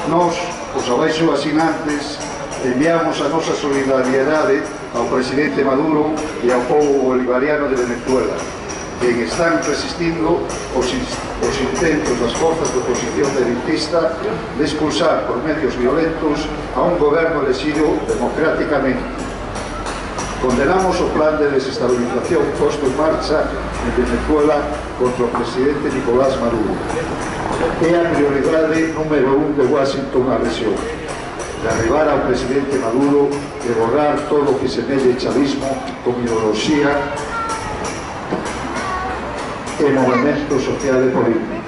Nós, os abaixo asinantes, enviamos a nosa solidariedade ao presidente Maduro e ao povo bolivariano de Venezuela, que están resistindo os intentos das forzas de oposición derechista de expulsar por medios violentos a un goberno elegido democráticamente. Condenamos o plan de desestabilización posto en marcha en Venezuela contra o presidente Nicolás Maduro. É a prioridade número 1 de Washington a rexión: derribar ao presidente Maduro e borrar todo o que semelle chavismo con ideoloxía e movimento social e político.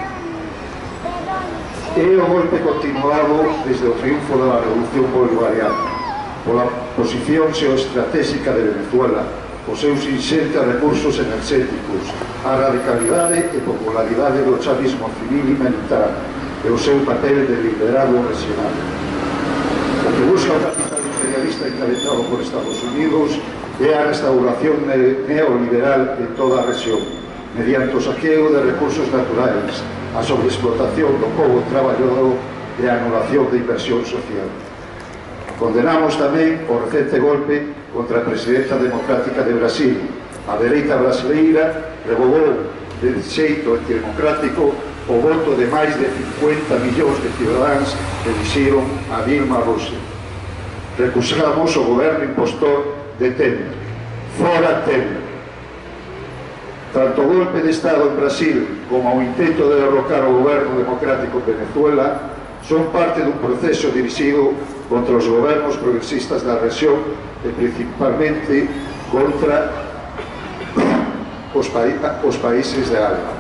É o golpe continuado desde o triunfo da revolución bolivariana pola posición xeoestratégica de Venezuela, os seus inxentes recursos enerxéticos, a radicalidade e popularidade do chavismo civil e militar e o seu papel de liderado regional. O que busca o capital imperialista encabezado por Estados Unidos é a restauración neoliberal en toda a rexión, mediante o saqueo de recursos naturais, a sobreexplotación do povo traballador e a anulación de inversión social. Condenamos tamén o recente golpe contra a presidenta democrática de Brasil. A dereita brasileira revogou de xeito antidemocrático o voto de máis de 50 millóns de cidadáns que elixiron a Dilma Rousseff. Recusamos o goberno impostor de Temer. Fora Temer. Tanto o golpe de Estado en Brasil como o intento de derrocar o goberno democrático en Venezuela son parte dun proceso dirixido contra os gobernos progresistas da rexión e principalmente contra os países de África.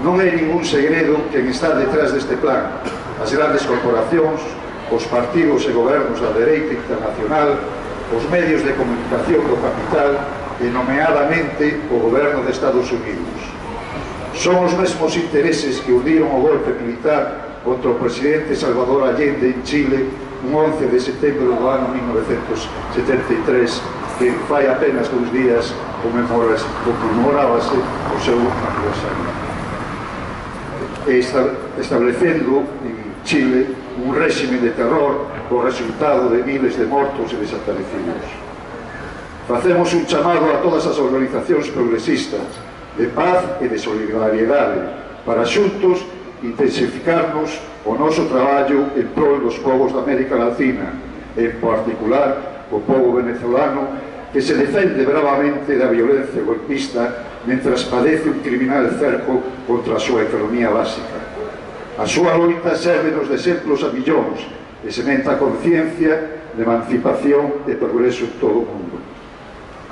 Non é ningún segredo quen está detrás deste plan: as grandes corporacións, os partidos e gobernos da dereita internacional, os medios de comunicación do capital e, nomeadamente, o goberno de Estados Unidos. Son os mesmos intereses que uniron o golpe militar contra o presidente Salvador Allende en Chile un 11 de setembro do ano 1973, que fai apenas 2 días conmemorábase o seu aniversario, establecendo en Chile un réxime de terror co resultado de miles de mortos e desaparecidos. Facemos un chamado a todas as organizacións progresistas de paz e de solidariedade para xuntos intensificarnos o noso traballo en prol dos povos da América Latina, en particular o povo venezolano que se defende bravamente da violencia golpista mentras padece un criminal cerco contra a súa economía básica. A súa loita sérvenos de exemplos a millóns e sementa a conciencia de emancipación e progreso en todo o mundo.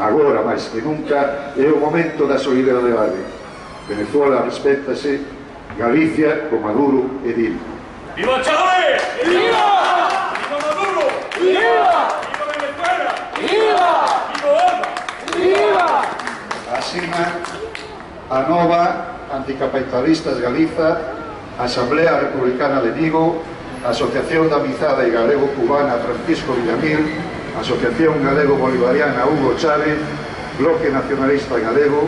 Agora, máis que nunca, é o momento da solidaridade. Venezuela respétase, Galicia con Maduro e Dilma. ¡Viva Chávez! ¡Viva! ¡Viva Maduro! ¡Viva! ¡Viva Venezuela! ¡Viva! ¡Viva Obama! ¡Viva! Asina a nova Anticapitalistas Galiza, Asamblea Republicana de Vigo, Asociación da Amizade Galego-Cubana Francisco Villamil, Asociación Galego-Bolivariana Hugo Chávez, Bloque Nacionalista Galego,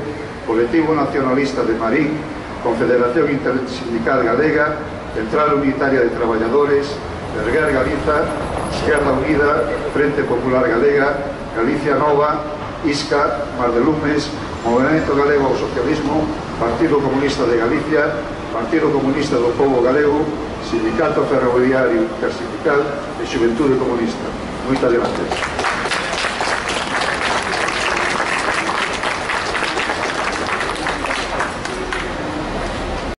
Colectivo Nacionalista de Marín, Confederación Intersindical Galega, Central Unitaria de Traballadores, Erguer Galiza, Esquerda Unida, Frente Popular Galega, Galicia Nova, ISCA, Mar de Lumes, Movimento Galego ao Socialismo, Partido Comunista de Galicia, Partido Comunista do Pobo Galego, Sindicato Ferroviario Intersindical e Xuventude Comunista. Moitas gracias.